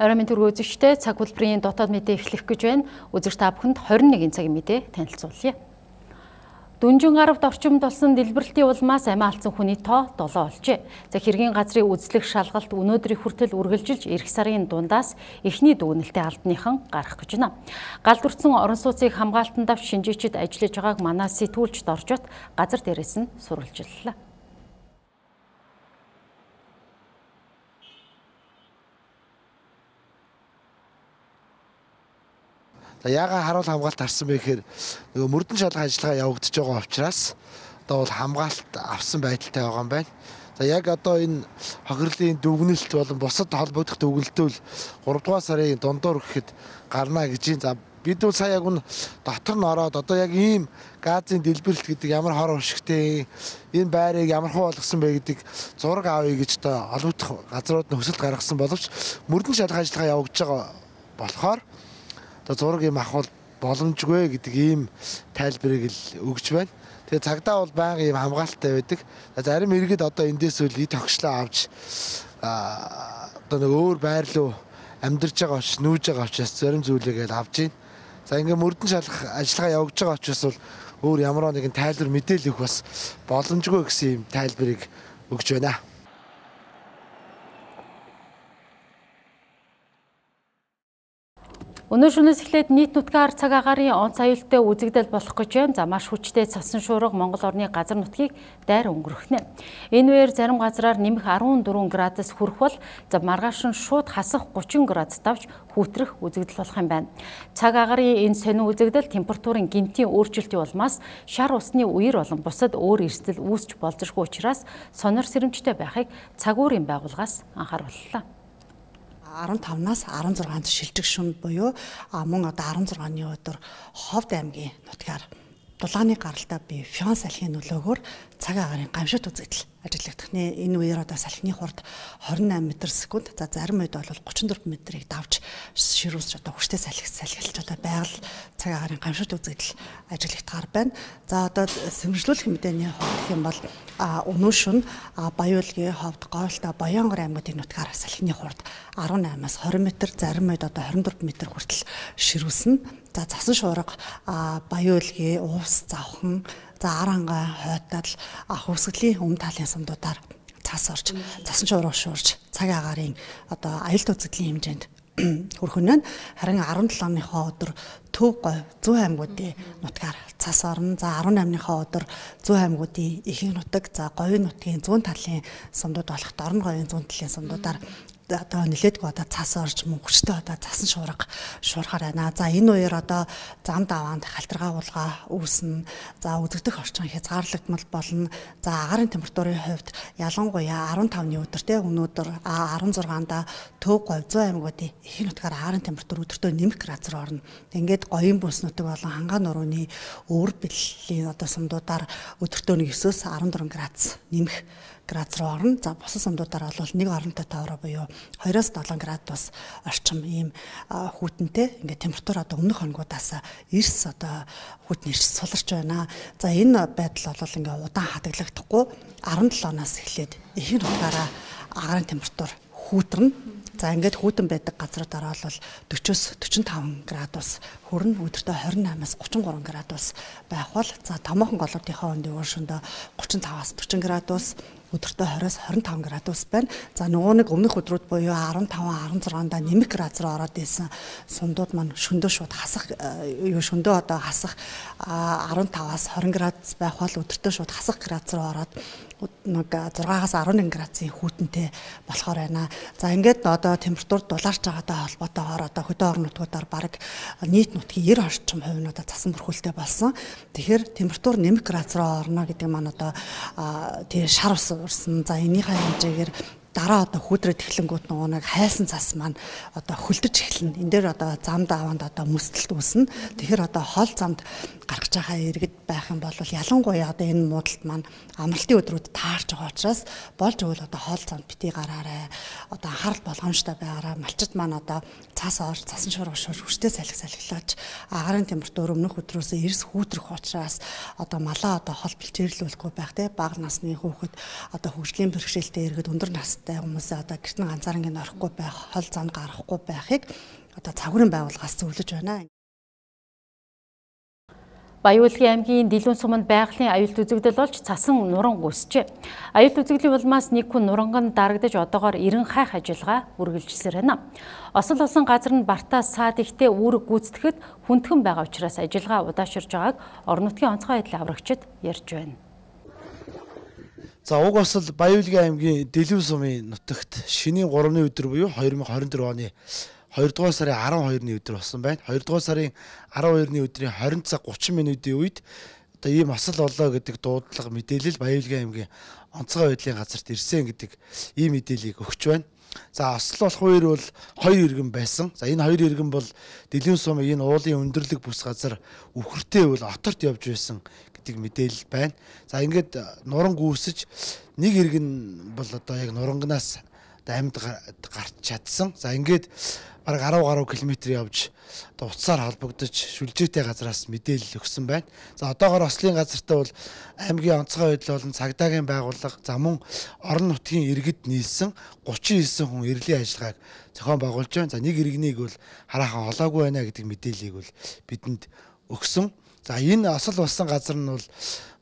Орой мэнд түргөө үзэгчтэй цаг хөтөлбөрийн дотоод мэдээ эхлэх гэж байна. Үзэгч та бүхэнд 21 цагийн мэдээ танилцуулъя. Дүнжин гаравд орчимд болсон дэлбэрэлтийн улмаас амиа алдсан хүний тоо 7 болжээ. За хэргийн газрын үзлэх шалгалт өнөөдрийн хүртэл үргэлжилж эх сарын дундаас эхний дүгнэлтээ албаныхан гарах гэж байна. Галдурдсан орон сууцыг хамгаалтанд авч шинжээчид ажиллаж байгааг манай сэтгүүлчд оржот газар дээрээс нь сурвалжиллаа. Яагаад харуул хамгаалт харсан бэ гэхээр нөгөө мөрдөн шалгах ажиллагаа явагдаж байгаа учраас одоо бол хамгаалт авсан байдалтай байгаа юм байна. За яг одоо энэ хохирлын дүгнэлт болон бусад холбогдох дүгнэлтүүд 3 дугаар сарын дундуур гэхэд гарна гэж. За бид бол сая яг нь дотор нь ороод одоо яг ийм газын дэлбэрэлт гэдэг ямар хор уршигтэй энэ байрыг ямар хөө болгосон бэ гэдэг зураг авъя гэж одоо олонх газрууд нь хөсөлт гаргасан боловч мөрдөн шалгах ажиллагаа явагдаж байгаа болохоор одоо зураг юм авах боломжгүй гэдэг ийм тайлбарыг л өгч байна. Тэгээ цагдаа бол байнга ийм хамгаалттай байдаг. Зарим иргэд одоо эндээс үл ид тогшлоо авч одоо нэг өөр байр руу амьдарч байгаа учраас нүүж байгаа учраас зарим зүйлээгээл авж гин. За ингээ мөрдөн шалгах ажиллагаа явагдаж байгаа учраас бол өөр ямар нэгэн тайлбар мэдээлэл өгөх бас боломжгүй гэсэн ийм тайлбарыг өгч байна. Өнөө шөнөөс эхлээд нийт нутгаар цаг агаарын онц аюултай үзэгдэл болох гэж байна. За маш хүчтэй цасан шуурга Монгол орны газар нутгийг дайр өнгөрөхнэ. Энэ үеэр зарим газраар нэмэх 14 градус хүрэх бол за маргааш нь шууд хасах 30 градус давж хүүтрэх үзэгдэл болох юм байна. Цаг агаарын энэ сонин үзэгдэл температурын гинтийн өөрчлөлтийн улмаас шар усны үер болон бусад өөр эрсдэл үүсч болзошгүй учраас сонор сэрэмжтэй байхыг цаг уурын байгууллагаас анхаарууллаа. 15-наас 16-нд шилжих шүн буюу мөн одоо 16-ны өдөр Ховд аймгийн нутгаар дулааны гаралтай бие фион салхины нөлөөгөөр цаг агаарын гамшигт үзэгдэл ажиллагдах нэ. Энэ үеэр одоо салхины хурд 28 м/сек. За зарим үед бол 34 м-ийг давж ширүүсч одоо хүчтэй салхилж одоо байгаль цаг агаарын гамшигт үзэгдэл ажиллагдахаар байна. За одоо сэрэмжлүүлэх мэдээний хувьд гэх юм бол өнөө шөнө Баяуулгийн Ховд, Гойлтой, Баянгор аймагуудын нутгаар салхины хурд 18-аас 20 м, зарим үед одоо 24 м хүртэл ширүүснэ. За цасан шуурга Баяуулгийн Уус, Завхан, за Аранга, Хойтал, Хөвсгөлийн өмнө талын сумдуудаар цас орж, цасан шуурга шуурж цаг агаарын одоо аюултай үзэгдлийн хэмжээнд хүрэх нь. Харин 17-ныхоо өдөр Төв, Говь, Зүүн аймагуудын нутгаар цас орно. За 18-ныхоо өдөр Зүүн аймагуудын ихэнх нутаг, за Говийн нутгийн зүүн талын сумдууд болох Дорн Говийн зүүн талын сумдуудаар одоо нэлээдгүй одоо цас орж мөн хүчтэй одоо цасан шуурга шуурхаар байна. За энэ үеэр одоо зам даваанд халтаргаа уулга үүснэ. За үзэгдэх орчин хязгаарлагдмал болно. За агаарын температурын хувьд ялангуяа 15-ны өдөртэй өнөөдөр 16-нд Төв, Говь, Зүүн аймагуудын ихэнх нутгаар агаарын температур өдөртөө нэмэх градус руу орно. Ингээд Говийн бүс нутаг болон Хангаан нурууны өвөр бэллийн одоо сумдуудаар өдөртөө 9-өөс 14 градус нэмэх градус руу орно. За бусад сумдуудаар бол нэг оронтой товроо буюу 2-7 градус орчим ийм хүйтэнтэй ингээд температур одоо өмнөх хоногудаас эрс одоо хүйтэн эрс суларч байна. За энэ байдал бол ингээд удаан хадгалагдахгүй 17-наас эхлээд ихэнх нутгаараа агаарын температур хүүтэрнэ. За ингээд хүүтэн байдаг газруудаараа бол 40-с 45 градус хүрнэ. Өдөртөө 28-аас 33 градус байх бол за томоохон голуудынхаа өндөө өршөндөө 35-аас 40 градус, өдөртөө 20-аас 25 градус байна. За нөгөө нэг өмнөх өдрүүд буюу 15-16-нд нэмэх градус руу ороод ирсэн сумдууд маань шөндөө шууд хасах шөндөө одоо хасах 15-аас 20 градус байх бол өдөртөө шууд хасах градус руу ороод нэг 6-аас 11 градусын хүйтэнтэй болохоор байна. За ингээд одоо температур дулаарч байгаатай холбоотойгоор одоо хөдөө орон нутгуудаар бараг нийт нутгийн 90 орчим хувь нь одоо цасан бүрхүүлтэй болсон. Тэгэхээр температур нэмэх градус руу орно гэдэг маань одоо тий шар ус урсан. За энийхээ хэмжээгээр дараа одоо хүүтрээд эхлэнгүүт нөгөө нэг хайсан цас маань одоо хөлдөж эхэлнэ. Энд дээр одоо зам даваанд одоо мөсдөлт үүснэ. Тэгэхээр одоо хол замд гаргаж байгаа иргэд байх юм бол ялангуяа одоо энэ муудалд маань амралтын өдрүүд таарч байгаа учраас болж өгвөл одоо хол замд битгий гараарай. Одоо анхаарал болгоомжтой байгаарай. Малчид маань одоо цас орж, цасан шуурга шуурж хүчтэй салхилаач. Агаарын температур өмнөх өдрөөс эрс хүүтрэх учраас одоо малаа одоо хол бэлчээрлүүлэхгүй байх те бага насны хүүхэд одоо хөгжлийн бэрхшээлтэй иргэд өндөр насны настай хүмүүсээ одоо гэрт нь ганцаарнгийн орохгүй байх, хол зам гарахгүй байхыг одоо цагуурын байгууллагаас зөвлөж байна. Баян-Улгийн аймгийн Дэлгүүн суманд байгалийн аюулт үзэгдэл болж цасан нуран үүсчээ. Аюулт үзэгдлийн улмаас нэг хүн нуранган дарагдаж одоогоор 90 хайх ажиллагаа үргэлжилсээр байна. Осол болсон газар нь Бартаа саад ихтэй үүрэг гүйцэтгэхэд хүндхэн байгаа учраас ажиллагаа удаашрж байгааг орон нутгийн онцгой байдлын аврагчид ярьж байна. За уг осол Баян-Улгийн аймгийн Дэлгүүн сумын нутагт шинийн 3-ны өдөр буюу 2024 оны 2-р сарын 12-ны өдөр болсон байна. 2-р сарын 12-ны өдрийн 20 цаг 30 минутын үед одоо ийм осол болоо гэдэг дуудлага мэдээлэл Баян-Улгийн аймгийн онцгой байдлын газарт ирсэн гэдэг ийм мэдээллийг өгч байна. За осол болох үеэр бол 2 иргэн байсан. За энэ 2 иргэн бол Дэлгүүн сумын энэ уулын өндөрлөг бүс газар үхэртэй бол оторт явж байсан гэдэг мэдээлэл байна. За ингээд нуран гүйсэж нэг иргэн бол одоо яг нурангнаас амьд гарч чадсан. За ингээд бараг 10 гаруй километр явж одоо утсаар холбогдож шүлжээтэй газраас мэдээлэл өгсөн байна. За одоогоор ослын газартаа бол аймгийн онцгой байдал болон цагдаагийн байгууллага за мөн орон нутгийн иргэд нийлсэн 39 хүн эрлийн ажиллагааг зохион байгуулж байна. За нэг иргэнийг бол хараахан олоогүй байна гэдэг мэдээллийг бол бидэнд өгсөн. За энэ осол болсон газар нь бол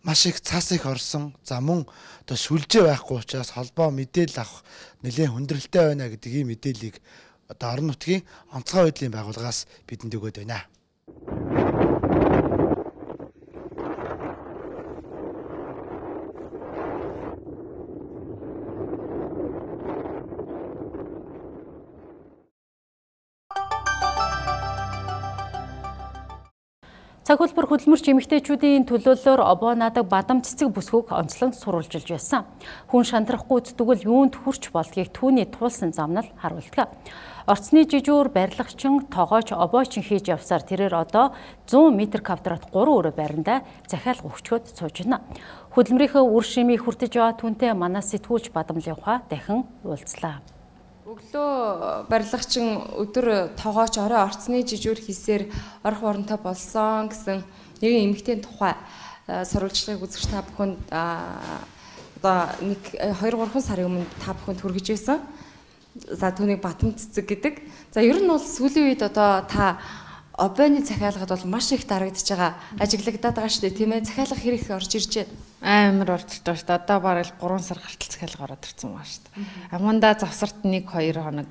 маш их цас их орсон. За мөн одоо шүлжээ байхгүй учраас холбоо мэдээлэл авах нэлээд хүндрэлтэй байна гэдэг ийм мэдээллийг одоо орон нутгийн онцгой байдлын байгууллагаас бидэнд өгöd байна. Цаг хөлбөр хөдөлмөрч эмэгтэйчүүдийн төлөөллөөр обоо наадаг бадам цэцэг бүсгүйг онцлон сурвалжилж байсан. Хүн шантрахгүй зүтгэл юунд хүрч болдгийг түүний туулсан замнал харуулдаг. Орцны жижүүр барилгачин тогооч обоочин хийж явсаар тэрээр одоо 100 м²-т 3 өрөө байранда захиалга өгчгөөд сууж байна. Хөдөлмөрийнхөө үр шимийг хүртэж яваа түнтэй манай сэтгүүлч Бадамлын ухаа дахин уулзлаа. Өглөө барилгачин өдөр тогооч орой орцны жижүүр хийсээр орох воронтой болсон гэсэн нэгэн эмэгтэйн тухай сурвалжлагыг үзэгч та бүхэнд одоо 2-3 сарын өмнө та бүхэнд хүргэж байсан. За түүнийг Батам цэцэг гэдэг. За ер нь бол сүүлийн үед одоо та обойны захиалгад бол маш их дарагдж байгаа ажиглагдаад байгаа шүү дээ тийм ээ. Захиалга хэрэг орж ирж байна. Амар орж ирж байгаа шүү дээ. Одоо бараг 3 сар гартал захиалга ороод ирсэн байгаа шүү дээ. Амандаа завсарт 1-2 хоног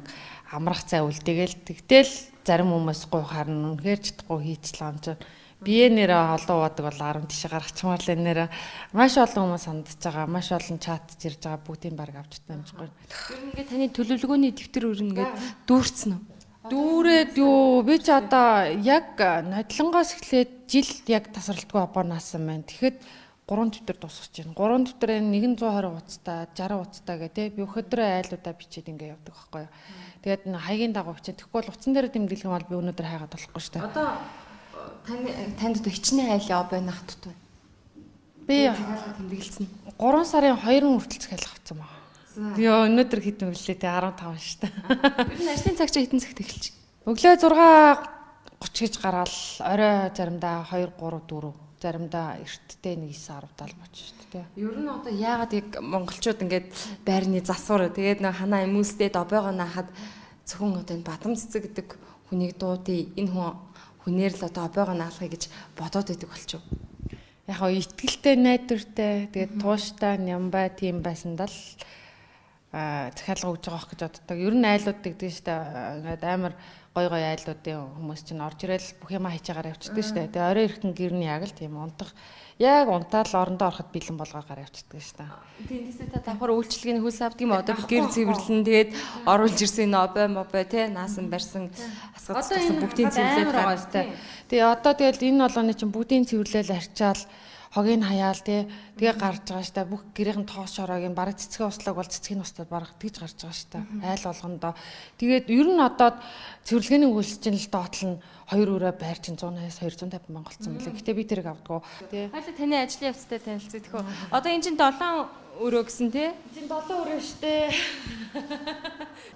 амрах цай үлдээгээл тэгтэл зарим хүмүүс гуй харна үнэхээр чадахгүй хийцлээ юм чинь. Бие нэрээ олон уудаг бол 10 тийш гаргачмаар л нэрээ маш олон хүмүүс сандж байгаа, маш олон чатж ирж байгаа бүгдийн баг авч таамжгүй. Ер нь ингээд таны төлөвлөгөөний дэвтэр үрнгээд дүүрцэн үү? Дүүрээд юу би ч одоо яг нодлонгоос эхлээд жил яг тасралтгүй обоо наасан байна. Тэгэхэд 3 дэвтэр дуусгаж байна. 3 дэвтэрээ 120 утастай, 60 утастай гэдэг би өдрөө айлуудаа бичээд ингээ явдаг байхгүй юу. Тэгээд хаягийн дагуу бичээд тэгэхгүй бол утсан дээр тэмдэглэх юм бол би өнөөдөр хайгаад болохгүй шүү дээ. Одоо танд хичнээн айлын обоо нах тут байна. Би тэмдэглэсэн. 3 сарын 2-ын хүртэл захиалга авсан байна. Тэгээ өнөөдөр хэдэн үлээ те 15 шүү дээ. Ер нь ажлын цаг чи хэдэн цагт эхэлж? Өглөө 6:30 гэж гараад орой заримдаа 2 3 4 заримдаа эртдээ 1 9 10 70 боч шүү дээ. Ер нь одоо яагаад яг монголчууд ингээд байрны засвар тэгээд нэг ханаа эмүүлстэд обоогоо наахад зөвхөн одоо энэ Бадам цэцэг гэдэг хүнийг дуудъя. Энэ хүнээр л одоо обоогоо наалахыг гэж бодоод байдаг болчих. Яг хоо итгэлтэй найдвартай тэгээд тууштай нямбай тийм байсандаа л захиалга өгж байгаа гэж боддог. Ер нь айлууд гэдэг шүү дээ. Ингээд амар гой айлуудын хүмүүс чинь орж ирэл бүх юм хайчаагаар явчихдаг шүү дээ. Тэгээ орой ирэхэн гэрний яг л тийм унтах яг унтаал орондоо ороход бэлэн болгоогаар явчихдаг шүү дээ. Тэндээсээ та давхар үйлчлэгийн хөлс авдаг юм одоо гэр цэвэрлэн тэгээд оруулж ирсэн обой те наасан барьсан асгацсан бүгдийн цэвэрлээд байгаа шүү дээ. Тэгээ одоо тэгэл энэ болгоны чинь бүгдийн цэвэрлэл арчаал хогийг хаяал тэгээ гарч байгаа штэ бүх гэрийн тоос шороог нь бараг цэцгийн услаг бол цэцгийн устдад бараг тэгж гарч байгаа штэ айл болгондоо тэгээд ер нь одоо цэвэрлэгээний үйлчлэл нь доотлол нь 2 өрөө байр чинь 100-аас 250 мянга болсон мөлий. Гэтэ би тэрийг авдаггүй. Хоёул таны ажлын явцтай танилцъя тэхөө. Одоо энэ чинь 7 өрөө гэсэн тий? Чинь 7 өрөө штэ.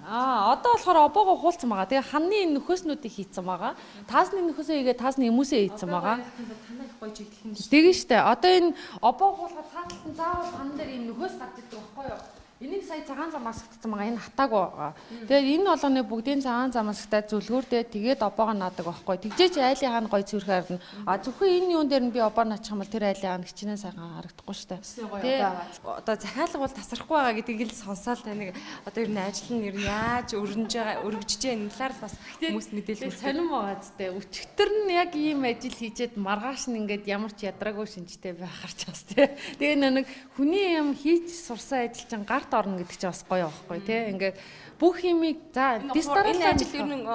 Одоо болохоор обоогоо хуулцсан байгаа. Тэгээ ханны нөхөөснүүдийг хийцэн байгаа. Таасны нөхөөсөө игээ таасны эмүүсээ хийцэн байгаа. Танайх гоё жиглэх юм. Тэгээ штэ. Одоо энэ обоо хуулгаад цааталт нь заавал хан дээр ийм нөхөөс гарч ирдэг байхгүй юу? Энийг сая цагаан замаас гтсан байгаа. Энэ хатаагүй байгаа. Тэгээд энэ болгоны бүгдийн цагаан замаас гтаа зүлгүүрдээ тэгээд обоогоо наадаг байхгүй. Тэгжээч айлын хаана гоё зүрх харна. А зөвхөн энэ юун дээр нь би обоо наачих юм бол тэр айлын хаана хичнээн сайхан харагдахгүй шүү дээ. Одоо захиалга бол тасрахгүй байгаа гэдгийг л сонсоол тань. Одоо ер нь ажил нь ер нь яаж өргөжж байгаа энэ талаар бас хүмүүст мэдээлэл сонирм байгаа зү. Өчигдөр нь яг ийм ажил хийжээд маргааш нь ингээд ямар ч ядраагүй шинжтэй байх харч бас тий. Тэгээ нэг хүний юм хийж сурсан ажил чинь гарт орно гэдэг чинь бас гоё байхгүй тий. Ингээд бүх юмыг за энэ ажил ер нь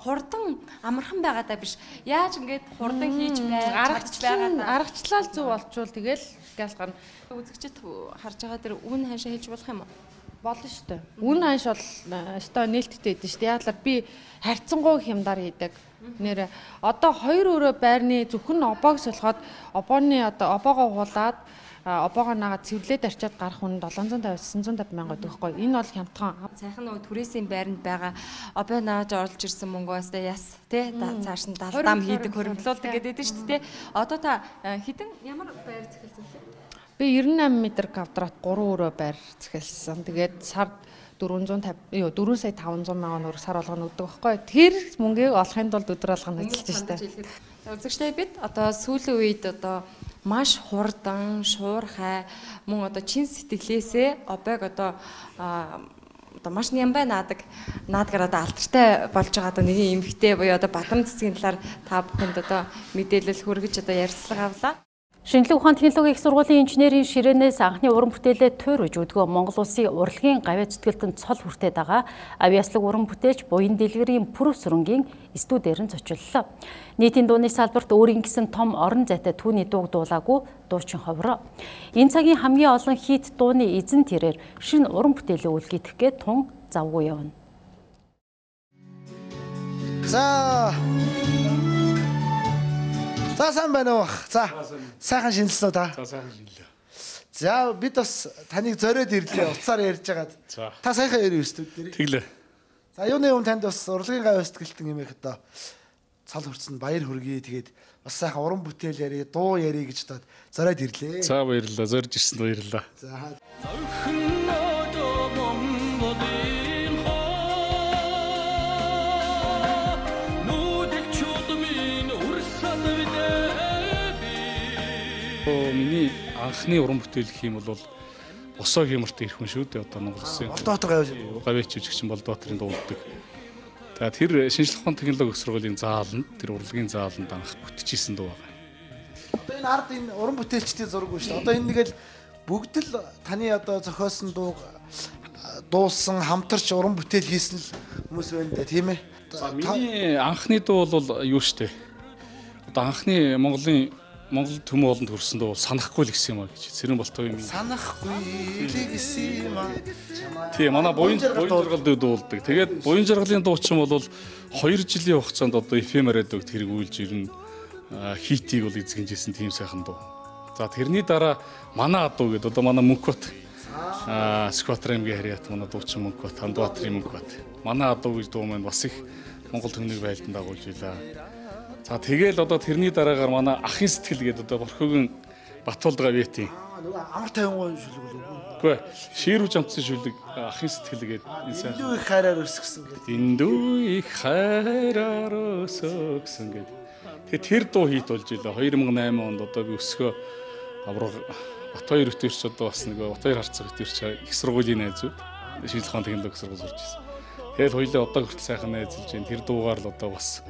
хурдан амархан байгаадаа биш. Яаж ингээд хурдан хийж аргачлал зөв болчвол тэгэл гал гарна. Үзэгчд харж байгаа тэр үн ханшаа хэлж болох юм уу? Болно шүү дээ. Үн ханш бол өстой нээлттэй байдэн шүү дээ. Яг л би харьцангуй хямдар хийдэг. Нэр одоо 2 өрөө байрны зөвхөн обоог солиход обооны одоо обоогоо хуулаад обоогоо наагаад цэвэрлээд арчаад гарах хүн 750 950 мянга гэдэг байхгүй. Энэ бол хямдхан. Сайхан нөгөө түрээсийн байранд байгаа обоо нааж орлож ирсэн мөнгөөс яс тий цааш нь далдам хийдэг хөрөнгөлүүлдэг гэдэг шүү дээ. Одоо та хідэн ямар байр захиалсан бэ? Би 98 м2 3 өрөө байр захиалсан. Тэгээд сард 450 4 сая 500 мянган төгрөг сар болгоно өгдөг байхгүй. Тэр мөнгийг олохын тулд өдөр алгана ажиллаж штэ. Үзэгчтэй бид одоо сүүлийн үед одоо маш хурдан, шуурхай мөн одоо чин сэтгэлээсээ обыг одоо маш нямбай наадгаар одоо алдартай болж байгаа одоо нэгэн эмэгтэй буюу одоо Бадам цэцгийн талаар та бүхэнд одоо мэдээлэл хүргэж одоо ярилцлага авлаа. Шинжлэх ухааны технологийн их сургуулийн инженерийн ширээнээс анхны уран бүтээлээ туйрж өдгөө Монгол Улсын урлагийн гавьяа зүтгэлтэнд цол хүртээд байгаа авиаслаг уран бүтээлч Буян Дэлгэрийн Пүрэв сүрэнгийн студиэр нь зочиллоо. Нийтийн дууны салбарт өөрийн гэсэн том орон зайтай түүний дууг дуулаагүй дуучин ховроо. Энэ цагийн хамгийн олон хит дууны эзэн тэрээр шинэ уран бүтээлээ үлгээх гээд тун завгүй явна. За сайн байна уу? За сайхан шинэлсэн үү та? За сайхан шинэлээ. За бид бас таныг зориод ирлээ. Уцаар ярьж байгаад. Та сайхан ярив студид. Тэглээ. За юуны танд бас урлагийн гавьяа сэтгэлтэн юмэх одоо цал хүрсэн баяр хүргэе. Тэгээд бас сайхан уран бүтээл ярие, дуу ярие гэж одоо зориод ирлээ. За баярлалаа. Зорж ирсэнд баярлалаа. За миний анхны уран бүтээл гэх юм бол Босоо хэмэртэй ирэх хүн шүү дээ одоо Монгол Улсын. Болдоотор гавьяач жүжигчин Болдооторын дуулдаг. За тэр шинжлэх ухааны технологийн сургуулийн зааланд тэр урлагийн зааланд анх бүтчихсэн дуу байгаа. Одоо энэ ард энэ уран бүтээлчдийн зураг үү шүү дээ. Одоо энэ нэг л бүгд л таны одоо зохиосон дуу дуулсан хамтарч уран бүтээл хийсэн л хүмүүс байна дээ тийм ээ. За миний анхны дуу бол юу шүү дээ. Одоо анхны Монгол төмөө олонд хүрсэн дуу санахгүй л гэсэн юм а гэж. Цэрэн болтой юм. Санахгүй л гэсэн юм а. Тийм манай буян жаргал дуулдаг. Тэгээд буян жаргалын дуучин бол 2 жилийн хугацаанд одоо FM радиог тэргүүлж ирнэ. Хитийг бол эзэгжсэн тийм сайхан дуу. За тэрний дараа манай адуу гэдэг одоо манай Мөнхбат Скватер аймгийн харьяат манай дуучин Мөнхбат Хандбаатарын Мөнхбат. Манай адуу гэж дуу маань бас их Монгол төмнийг байлдан дагуулж илаа. За тэгэл одоо тэрний дараагаар манай ахын сэтгэл гэдэг одоо Борхогийн Батуулд гавьяатын нөгөө амар 50 шүлэг үү? Үгүй ширүү жамцсан шүлэг ахын сэтгэл гэдэг энэ сайн. Индүү их хайраар өсгсөн гэдэг. Индүү их хайраар өсгсөн гэдэг. Тэгээ тэр дуу хийт болж илаа 2008 онд одоо би өсгөө авраг Батбаяр өтөрч одоо бас нөгөө Батбаяр харцаг өтөрч их сургуулийн найзууд шинжлэх ухааны технологи сургууль сурч ирсэн. Тэгэл хоёулаа одоо хүртэл сайхан найзалж байна. Тэр дуугаар л одоо бас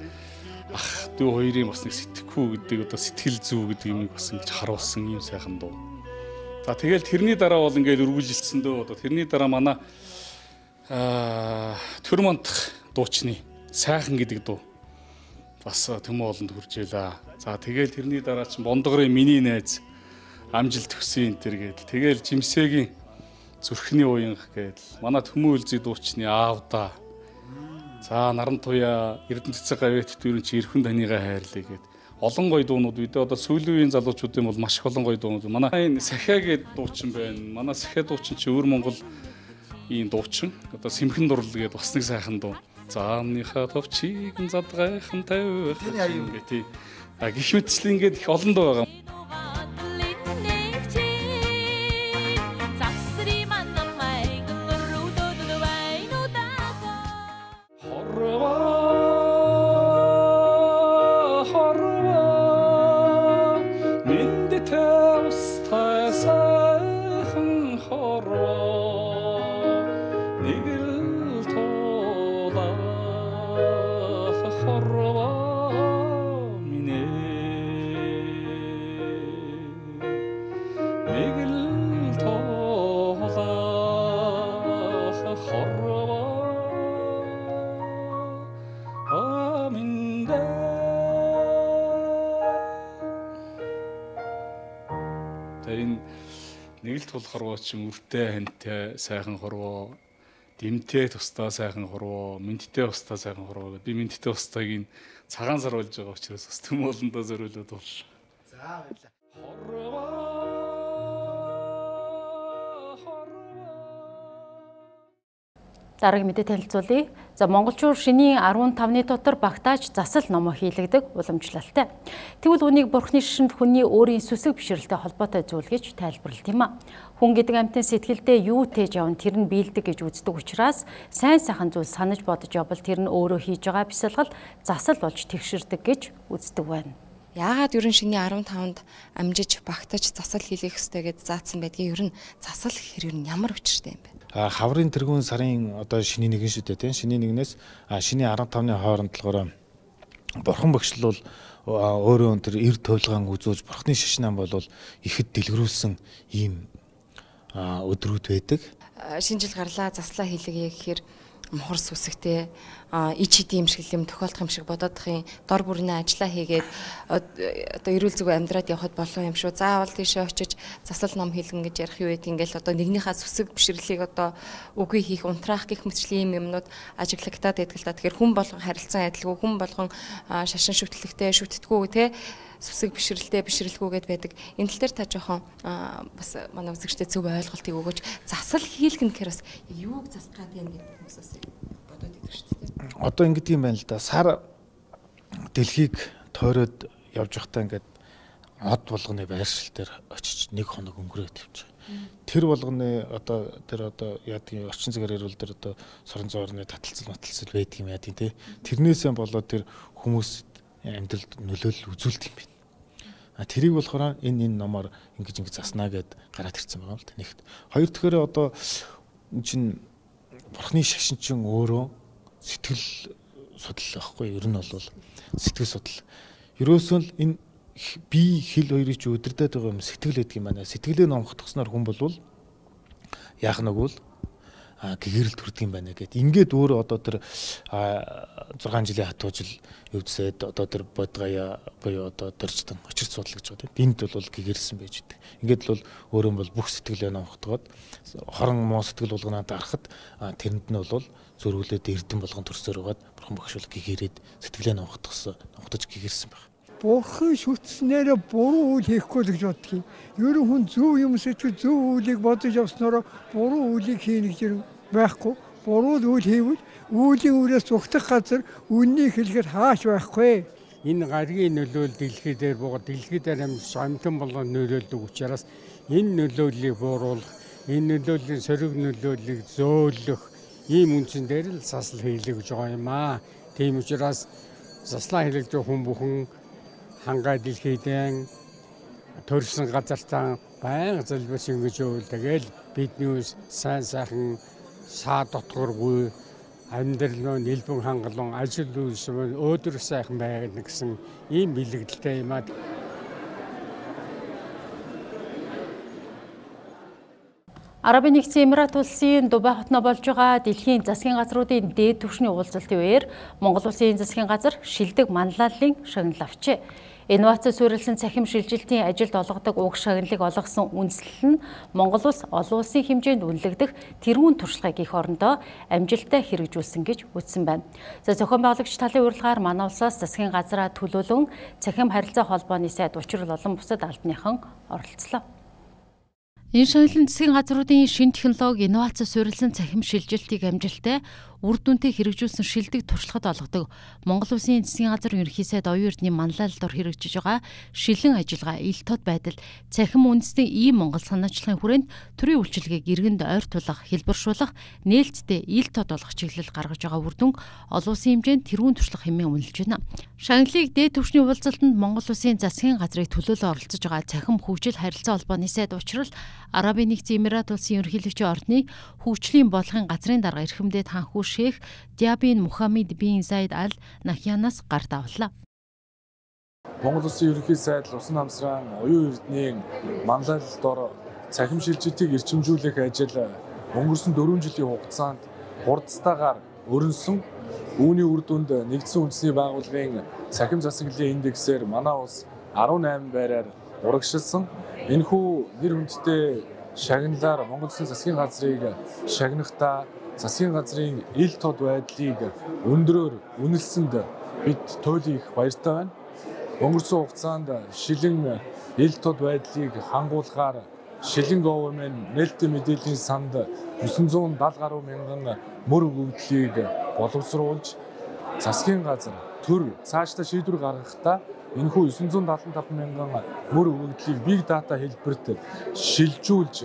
ах дүү хоёрын бас нэг сэтгэхүй гэдэг одоо сэтгэл зүй гэдэг юмыг бас ингэж харуулсан юм сайхан дуу. За тэгэл тэрний дараа бол ингээд үргэлжилсэн дөө одоо тэрний дараа манай Төрмөндх дуучны сайхан гэдэг дуу бас төмөө олонд хүрч ялаа. За тэгэл тэрний дараа чинь Бондгорын миний найз амжилт төсөн энэ гэдэг. Тэгэл Жимсэгийн зүрхний уянх гэдэг. Манай төмөө үлзий дуучны аавда. За наран туяа Эрдэнэ цэцэг гавьяат дүүрэн чи эрхэн танигаа хайрлаа гэд. Олон гоё дуунууд бид одоо сүүлийн үеийн залуучуудын бол маш их олон гоё дуунууд. Манай энэ Сахиа гэдэг дуучин байна. Манай Сахиа дуучин чи өвөр Монгол ийм дуучин. Одоо Сэмхэн дурлал гэдэг бас нэг сайхан дуу. Заамныхаа товчийг задгайхан тавих гэх тийм. Гэх мэтчлэн ингээд их олон дуу байгаа. тустай сайхан хорвоо нэг л тулах хорвоо минь нэг л тулах хорвоо минь энэ нэг л тул хорвоо чинь үртэй хантай сайхан хорвоо, дэмтэй тустай сайхан хорвоо, мэдтэй тустай сайхан хорвоо гэдэг. Би мэдтэй тустайг цагаан сар болж байгаа учраас бас төм олондоо зориулаад болж. За баярлалаа. Дараагийн мэдээ танилцуулъя. За монголчууд шинийн 15-ны дотор багтааж засал номоо хийлэгдэг уламжлалтай. Тэгвэл үүнийг бурхны шишинд хүний өөрийн сүсэг бишрэлтэй холбоотой зүйл гэж тайлбарлалт юм а. Хүн гэдэг амьтан сэтгэлдээ юу тээж явна тэр нь биелдэг гэж үздэг учраас сайн сайхан зүйл санаж бодож явбал тэр нь өөрөө хийж байгаа бясалгал засал болж тэгшэрдэг гэж үздэг байна. Яагаад ерөн шинийн 15-нд амжиж багтаж засал хийлгэх ёстой гэж заасан байдгийг ерөн засал гэхэр ерөн ямар учиртай юм бэ? Хаврын тэргүүн сарын одоо шинийн нэгэн шүү дээ тийм. Шинийн нэгнээс шинийн 15-ны хооронд болохоор бурхан багшлал өөрөө тэр эр туйлгаан үзүүлж бурхны шишнан болвол ихэд дэлгэрүүлсэн ийм өдрүүд байдаг. Шинэ жил гарлаа заслаа хийлгэе гэхээр мухар сүсгтэй ич хэдийн юм шиг юм тохиолдох юм шиг бодоодохын дор бүрнээ ажиллаа хийгээд одоо эрүүл зүг амьдраад явхад болов юм шүү. Заавал тийшээ очиж засал ном хийлгэн гэж ярих юу гэдэг ингээл одоо нэгнийхээ сүсэг бишрлийг одоо үгүй хийх унтраах гэх мэтчлийн юмнууд ажиглагтаад байдаг л та. Тэгэхээр хүн болгон харилцан адилгүй, хүн болгон шашин шүтлэгтэй шүтдэггүй те сүсэг бишрэлтэй бишрэлгүйгээд байдаг. Энэ тал дээр та жоохон бас манай үзэгчдэд зөв ойлголтыг өгөөч. Засал хийлгэн гэхээр бас юуг засгаад юм гэдэг хүмүүсээс бодоод идэг шүү дээ. Одоо ингэдэг юм байна л да. Сар дэлхийг тойроод явж байхдаа ингээд од болгоны байршил дээр очиж 1 хоног өнгөрөөд явж байгаа. Тэр болгоны одоо яадгийн орчин цагаар ирвэл тэр одоо сорон зоорны таталцал байдаг юм яа тий. Тэрнээсээ болоод тэр хүмүүс амьдралд нөлөөлөл үзүүлдэг юм байна. Тэрийг болохоор энэ номоор ингэж заснаа гэд гараад ирсэн байгаа л да. Нэгт. Хоёр дахь одоо чинь бурхны шашин чинь өөрөө сэтгэл судлал байхгүй. Ер нь бол сэтгэл судлал. Ерөөсөө л энэ би хэл хоёрыг чи өдөрдөд байгаа юм сэтгэл гэдэг юм байна. Сэтгэлээ номхдохсноор хүн болвол яах нэг бол гэгэрэл төрдөг юм байна гэд. Ингээд өөрөө одоо тэр 6 жилийн хатуужил өвдсөд одоо тэр бодгая буюу одоо дөржтөн очирч судлаа гэж байгаа тийм. Энд бол гэгэрэлсэн байж идэг. Ингээд бол өөрөө бол бүх сэтгэлээ номхдогоод хорон муу сэтгэл болгоноо дарахад тэрэнд нь бол зөрүүлээд эрдэм болгон төрсөөр байгаад бурхан багшуул гэгэрээд сэтгэлээ номхдож гэгэрсэн байна. Бурхан шүтснээр буруу үйл хийхгүй л гэж боддог юм. Ер нь хүн зөв юм сэтгэл зөв үйлийг бодож явснараа буруу үйлийг хийнэ гэж байхгүй. Буруу үйл хийвэл үүлийн үрээс зүгтэх газар үннийг хэлэхэд хааш байхгүй. Энэ гаргийн нөлөөлөл дэлхий дээр буугаад дэлхий дээр амьтан болгон нөлөөлдөг учраас энэ нөлөөллийг бууруулах, энэ нөлөөллийн сөрөг нөлөөллийг зөөлөх ийм үндсэн дээр л засал хийлгэж байгаа юм аа. Тийм учраас заслаа хийлгэж хүн бүхэн хангай дэлхийдэн төрсөн газартаа байнга залбирч ингэж өөл тэгэл бидний сайн сайхан саа дотгоргүй амьдрал нь нэлбэн хангалуун ажил үйлс өөдөр сайхан байгаад гэсэн ийм бэлгэлтэй юм аа. Арабын нэгдсэн Эмират улсын Дубай хотноо болж байгаа дэлхийн засгийн газруудын дээд түвшний уулзалтын үеэр Монгол улсын засгийн газар шилдэг манлайллын шагнал авчээ. Инновац суурилсан цахим шилжилтийн ажилд олгодог уг шагналыг олгосон үндэслэл нь Монгол улс олон улсын хэмжээнд үнэлэгдэх тэргүүн туршлагыг их орондоо амжилттай хэрэгжүүлсэн гэж үзсэн байна. За зохион байгуулагч талын урилгаар манай улсаас засгийн газраа төлөөлөн цахим харилцаа холбооны сайд учрал олон бусад албаныхан оролцлоо. Энэ шагналын засгийн газруудын шинэ технологи инновац суурилсан цахим шилжилтийг амжилттай үр дүнтэй хэрэгжүүлсэн шилдэг туршлагад олгодог. Монгол Улсын засгийн газар ерөнхий сайд оюун эрдэнийн манлайлалд хэрэгжиж байгаа шилэн ажиллагаа ил тод байдал цахим үндэсний ийм Монгол санаачлагын хүрээнд төрийн үйлчилгээг иргэнд ойртуулах, хэлбэршүүлэх, нээлттэй ил тод олох чиглэл гаргаж байгаа үр дүн олон улсын хэмжээнд тэргуун туршлага хэмээн үнэлж байна. Шагналыг дээд түвшний уулзалтанд Монгол Улсын засгийн газрыг төлөөлөө оролцож байгаа цахим хөгжил харилцаа холбооны сайд учрал Арабын нэгдсэн Эмират улсын ерөнхийлөгчийн ордны хөгжлийн бодлогын газрын дарга эрхэмдээ танхүү Шейх Диабин Мухаммед бин Заид Аль Нахьянаас гарт авлаа. Монгол Улсын ерөнхий сайд усан намсран оюун эрдэнийн манлайлалд ор цахим шилжилтийг эрчимжүүлэх ажил өнгөрсөн 4 жилийн хугацаанд хурдтайгаар өрнсөн. Үүний үр дүнд нэгдсэн үндэсний байгууллагын цахим засаглалын индексээр манай улс 18 байраар урагшилсан. Энэхүү нэр хүндтэй шагналаар Монгол Улсын засгийн газрыг шагнахдаа засгийн газрын ил тод байдлыг өндрөөр үнэлсэнд бид туйлын их баяртай байна. Өнгөрсөн хугацаанд шилэн ил тод байдлыг хангуулахаар шилэн government нээлттэй мэдээллийн санд 970 гаруй мянган мөр өгөгдлийг боловсруулж засгийн газар төр цаашдаа шийдвэр гаргахдаа энэхүү 975 мянган мөр өгөгдлийг big data хэлбэрт шилжүүлж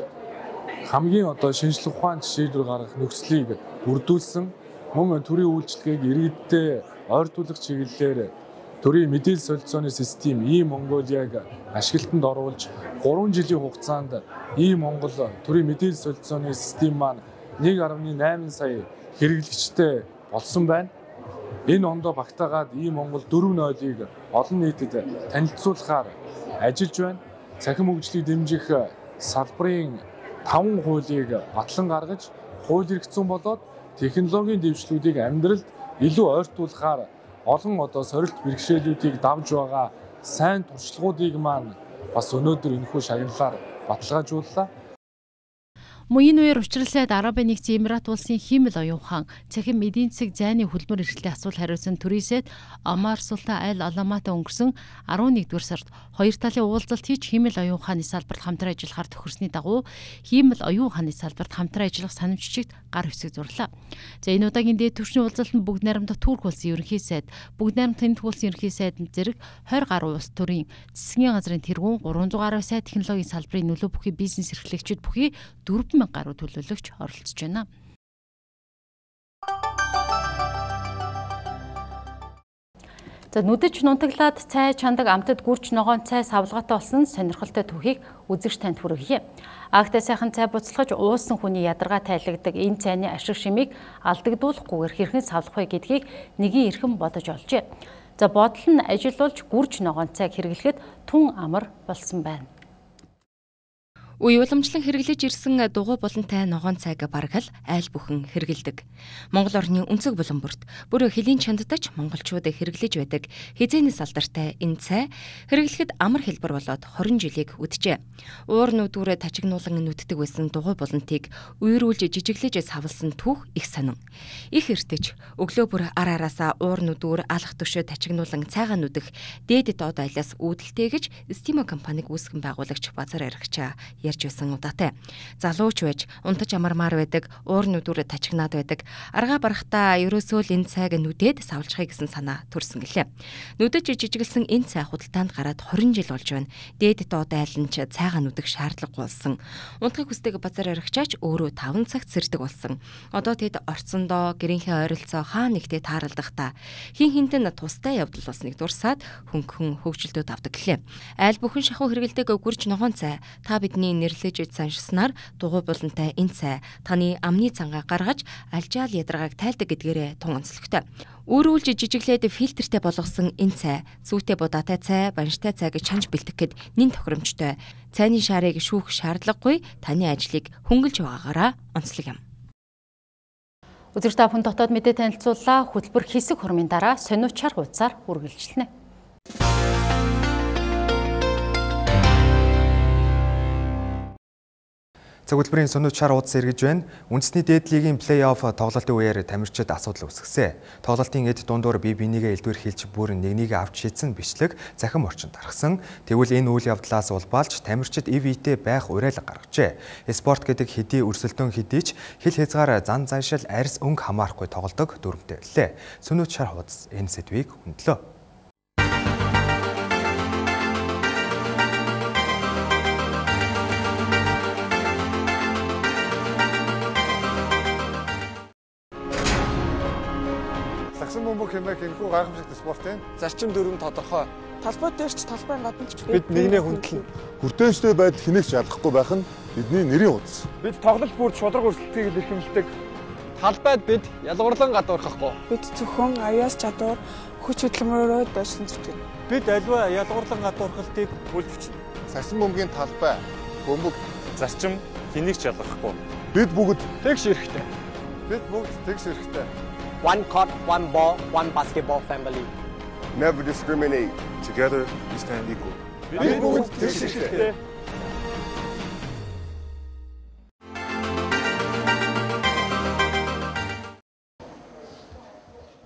хамгийн шинжлэх ухааны шийдвэр гаргах нөхцөлийг бүрдүүлсэн. Мөн төрийн үйлчилгээг иргэдтэй ойртуулах чиглэлээр төрийн мэдээлэл солилцооны систем e-Mongolia-г ашиглалтанд оруулж 3 жилийн хугацаанд e-Монгол төрийн мэдээлэл солилцооны систем маань 1.8 сая хэрэглэгчтэй болсон байна. Энэ ондоо багтаагаад e-Монгол 4.0-ыг олон нийтэд танилцуулахаар ажиллаж байна. Цахим хөгжлийг дэмжих салбарын 5 хуулийг батлан гаргаж, хууль эрх зүйн болоод технологийн дэвшлүүдийг амьдралд илүү ойртуулахаар олон сорилт бэрхшээлүүдийг давж байгаа сайн туршлагуудыг маань бас өнөөдөр энэхүү шагналаар баталгаажууллаа. Мөн энэ үеэр учрал сайд Арабын нэгдсэн Эмират улсын хиймэл оюун ухаан, цахим эдийн засаг зайны хөдөлмөр эрхлэлийн асуулт хариуцсан төрийн сайд Омар Султан Аль Аламатай өнгөрсөн 11-р сард хоёр талын уулзалт хийж хиймэл оюун ухааны салбарт хамтран ажиллахаар тохирсны дагуу хиймэл оюун ухааны салбарт хамтран ажиллах санамжчигт гар хэсэг зурлаа. За энэ удаагийн дээд түвшний уулзалтанд бүгд найрамдах Турк улсын ерөнхий сайд, бүгд найрамдах Тэнд улсын ерөнхий сайд зэрэг 20 гаруй улс төрийн засгийн газрын тэргүүн 300 гаруй сай технологийн салбарын нөлөө бүхий бизнес эрхлэгчид бүхий 4,000 гаруй төлөөлөгч оролцож байна. За нүдэж нунтаглаад цай чандаг амтад гүрч ногоон цай савлгаатай болсон сонирхолтой түүхийг үзэгч танд хүргье. Агтай сайхан цай буцалгаж уусан хүний ядаргаа тайлагддаг энэ цайны ашиг шимийг алдагдуулахгүйгээр хэрхэн савлах вэ гэдгийг нэгэн эрхэм бодож олжээ. За бодол нь ажилуулж гүрч ногоон цайг хэрэглэхэд тун амар болсон байна. Үе уламжлан хэрэглэж ирсэн дугуй болонтай ногоон цайг бараг л айл бүхэн хэрэгэлдэг. Монгол орны өнцөг булан бүрт бүр хөлийн чанддаж монголчууд хэрэглэж байдаг хизээний салдартай энэ цай хэрэглэхэд амар хэлбэр болоод 20 жилийг үджээ. Уур нүдүүрээ тачигнуулан нүддэг байсан дугуй болонтыг үерүүлж жижиглэж савлсан түүх их сонин. Их эртэж өглөө бүр ар араасаа уур нүдүүр алах төшөө тачигнуулан цайгаа нүдэх дээд доод айлаас үүдэлтэй гэж Стимо компаниг үүсгэн байгуулагч Базар Аригч ярьж байсан удаатай. Залууч байж унтаж амармаар байдаг, уур нүдүүрээ тачигнаад байдаг. Аргаа барахтаа ерөөсөө л энэ цайг нүдээд савлчихъя гэсэн санаа төрсөн гэлээ. Нүдэж жижиглсэн энэ цай худалдаанд гараад 20 жил болж байна. Дээд доод айл нь цайгаа нүдэх шаардлагагүй болсон. Унтахыг хүсдэг Базар Аригчаач өөрөө 5 цагт сэрдэг болсон. Одоо тэд орцсондоо гэрийнхээ ойролцоо хаа нэгтээ тааралдахдаа хин хинтэн тустай явдал болсныг дурсаад хөнгөн хөгжилтүүд авдаг гэлээ. Айл бүхэн шахуу хэрэгэлдэг гүрч ногоон цай та бидний нэрлэж саншснаар дугуй болонтай энэ цай таны амны цангаа гаргаж алжаал ядаргааг тайлдаг гэдгээрээ тун онцлогтой. Өөрүүлж жижиглээд фильтртэй болгосон энэ цай зүйтэй будаатай цай, банштай цай гэж чанж бэлтгэхэд нэн тохиромжтой. Цайны шаарыг шүүх шаардлагагүй таны ажлыг хөнгөлж байгаагаараа онцлог юм. Үзэгч та бүхэн дотоод мэдээ танилцууллаа. Хөтөлбөр хэсэг хурмын дараа сониучаар хуудасаар үргэлжлэнэ. Цагуулбарын сүнүүчаар уудас эргэж байна. Үндэсний дээд лигийн плей-офф тоглолтын үеэр тамирчид асуудал үүсгэсэн. Тоглолтын эд дундуур бие бинийгээ элдвэр хийлж бүр нэгнийг авч шийдсэн бичлэг захин орчинд гаргасан. Тэгвэл энэ үйл явдлаас улбаалж тамирчид ивэтэй байх уриалга гаргажээ. Спорт гэдэг хэдий өрсөлдөөн хэдий ч хил хязгаар зан заншил арьс өнгө хамаарахгүй тоглодог дүрмтэй байлээ. Сүнүүчаар уудас энэ сэдвийг хөндлөө. Сагсан бөмбөг хэмээх энэхүү гайхамшигт спорт юм. Зарчим дүрм тодорхой. Талбай дээр ч талбайн гадна ч бид нэгнээ хүндлэн хүртээнчтэй байдал хинэгч ялахгүй байх нь бидний нэрийн утас. Бид тоглолт бүр шудраг өрсөлдгийг илэрхийлдэг. Талбайд бид ялгуурлан гадуурхахгүй. Бид зөвхөн аяас чадвар хүч хөдөлмөрөөр дайсан зүтгэн. Бид аливаа ялгуурлан гадуурхалтыг бүлэвчнэ. Сагсан бөмбөгийн талбай, бөмбөг, зарчим хинэгч ялгахгүй. Бид бүгд тэгш эрэхтэй. Бид бүгд тэгш эрэхтэй. One court, one ball, one basketball family. Never discriminate. Together we stand equal. Бид бүгд тэгш эрэхтэй.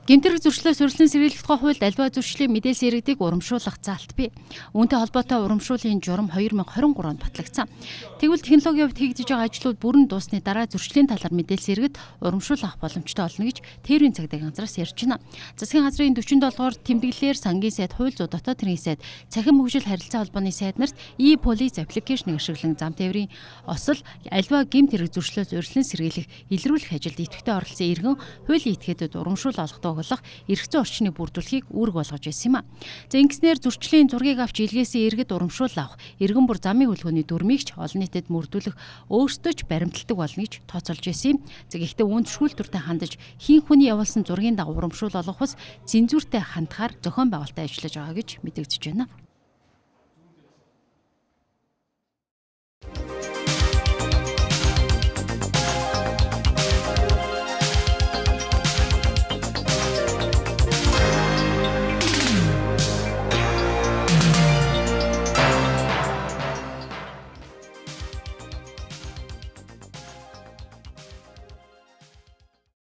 Гэмтэрэг зөрчлөөс урьдчилан сэргийлэх тухай хуульд аливаа зөрчлийн мэдээлэл иргэдийг урамшуулах заалт бий. Үүнтэй холбоотой урамшууллын журам 2023 онд батлагдсан. Тэгвэл технологийн хувьд хийгдэж байгаа ажлууд бүрэн дуусны дараа зөрчлийн талаар мэдээлэл иргэд урамшуул авах боломжтой болно гэж тээврийн цагдаа газраас ярьж байна. Засгийн газрын 47-р тэмдэглэлээр сангийн сайд, хууль зүйн дотоод хэргийн сайд, цахим хөгжил харилцаа холбооны сайд нарт e-police аппликейшнийг ашиглан зам тээврийн осол аливаа гэмтэрэг зөрчлөөс урьдчилан сэргийлэх, илрүүлэх ажилд идэвхтэй оролцсон иргэн хуулийн этгээдэд урамшуул олгодог эрх зүйн орчныг бүрдүүлэхийг үүрэг болгож байсан юм а. За ингэснээр зөрчлийн зургийг авч илгээсэн иргэд урамшуул авах, иргэн бүр замын хөдөлгөөний дүрмийг ч олон нийтэд мөрдүүлэх өөрсдөө ч баримталдаг болно гэж тооцоолж байсан юм. За гэхдээ үүнд шүүлтүртэй хандаж хийн хүний явуулсан зургийн дагуу урамшуул олгох бас цензуртэй хандахаар зохион байгуулалтаа ажиллаж байгаа гэж мэдэгдэж байна.